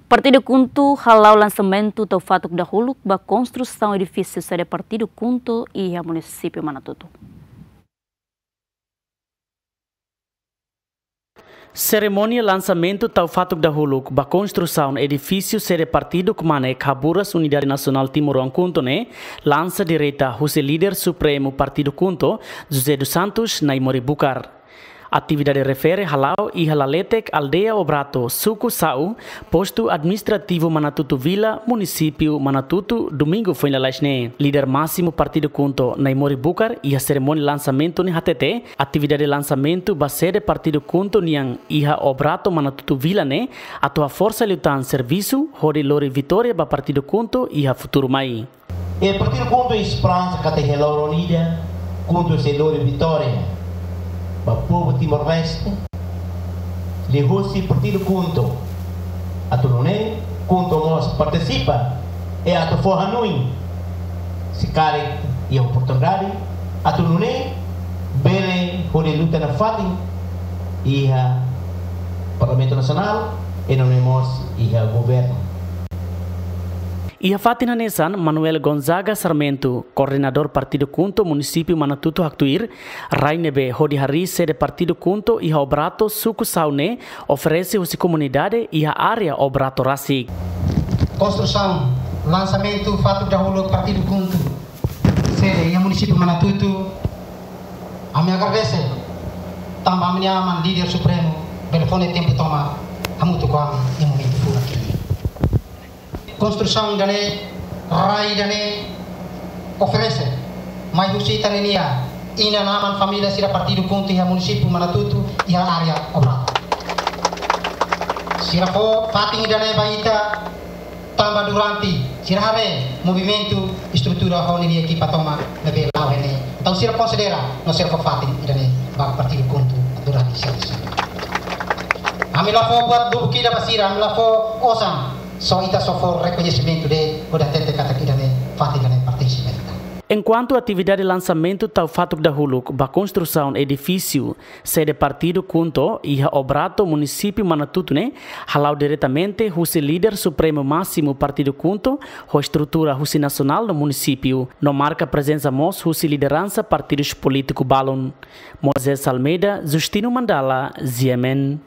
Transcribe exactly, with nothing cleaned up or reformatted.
Partidu KHUNTO hala'o lansamentu tau fatuk dahuluk ba konstrusaun edifísiu sede Partidu KHUNTO iha Munisípiu Manatuto. Serimónia lansamentu tau fatuk dahuluk ba konstrusaun edifísiu sede Partidu KMANE, Kaburas Unidade Nasionál Timoroan KHUNTO ne'e lansa direta husi Líder Supremu Partidu KHUNTO, José dos Santos Naimori Bucar. Atividade refere hala'o iha Laletek, Aldeia Obrato, Suku Sau, Postu Administrativu Manatuto Vila, Munisípiu Manatuto, Domingu foin lalais ne'e. Líder Másimu Partidu KHUNTO, Naimori Bucar, iha serimónia lansamentu ne'e hatete, atividade lansamentu ba sede Partidu KHUNTO nian iha Obrato, Manatuto Vila ne'e atu haforsa liután servisu hodi lori vitória ba Partidu KHUNTO iha futuru mai. E Partidu KHUNTO esperansa katak iha loron ida, KHUNTO sei lori vitória ba povu Timor-Leste. Liuhusi Partidu KHUNTO atu nune'e, KHUNTO mós partisipa, i atu fó hanoin, se karik iha oportunidade, atu nune'e bele hodi luta nafatin iha Parlamentu Nasionál, i nune'e mós iha governu. Iha fatin hanesan, Manuel Gonzaga Sarmento, koordenadór Partidu KHUNTO Munisípiu Manatuto haktuir, rai ne'ebé hodi harii sede Partidu KHUNTO iha Obrato, Suku Sau ne'e oferese husi komunidade iha área Obrato rasik. Konstrusaun, lansamentu fatuk dahuluk Partidu KHUNTO sede iha Munisípiu Manatuto, ami agradese tanba ami-nia aman Líder Supremu bele fó nia tempu tomak hamutuk ho ami iha momentu furak ida-ne'e. Konstrusaun ida-ne'e, rai ida-ne'e oferese mai husi ita-nia inan-aman família sira Partidu KHUNTO iha Munisípiu Manatuto iha área Obrato. Sira fó fatin ida-ne'e ba ita tanba durante sira haree movimentu, estrutura ho ninia ekipa tomak ne'ebé la'o iha ne'e. Entaun sira konsidera no sira fó fatin ida-ne'e ba Partidu KHUNTO durante sira. Ami la fó buat lubuk ida ba sira, ami la fó osan, só ita só fó rekoñesimentu de'it, hodi hatete katak ida-ne'e, fatin ida-ne'e pertense ba ita. Enkuantu atividade lansamentu tau fatuk dahuluk ba konstrusaun edifísiu sede Partidu KHUNTO iha Obrato, Munisípiu Manatuto ne'e hala'o diretamente husi Líder Supremu Másimu Partidu KHUNTO, ho estrutura husi nasionál no munisípiu, no marka prezensa mós husi lideransa partidus polítiku balun. Moisés Almeida, Justino Mandala, G M N.